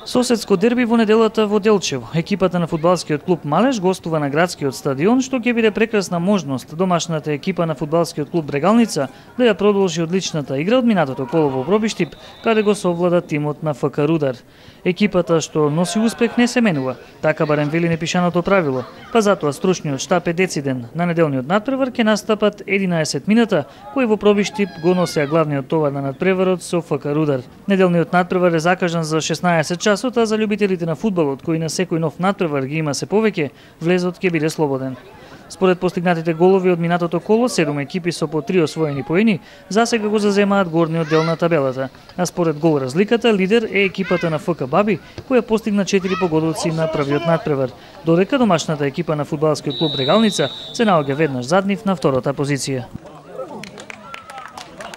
Соседско дерби во неделата во Делчево. Екипата на фудбалскиот клуб Малеш гостува на градскиот стадион, што ќе биде прекрасна можност домашната екипа на фудбалскиот клуб Брегалница да ја продолжи одличната игра од минатото коло во Пробиштип, каде го совлада тимот на ФК Рудар. Екипата што носи успех не се менува, така барем вели непишаното правило, па затоа стручниот штаб е дециден. На неделниот натпревар ќе настапат 11 мината, кои во Пробиштип го носеа главниот товар на надпреварот со ФК Рудар. Неделниот натпревар е закажан за 16 часот, а за љубителите на фудбалот, кои на секој нов натпревар ги има се повеќе, влезот ќе биде слободен. Според постигнатите голови од минатото коло, 7 екипи со по 3 освоени поени, засега го заземаат горниот дел на табелата, а според гол разликата, лидер е екипата на ФК Баби, која постигна 4 погодоци на првиот натпревар, додека домашната екипа на фудбалскиот клуб Брегалница се наоѓа веднаш зад нив на втората позиција.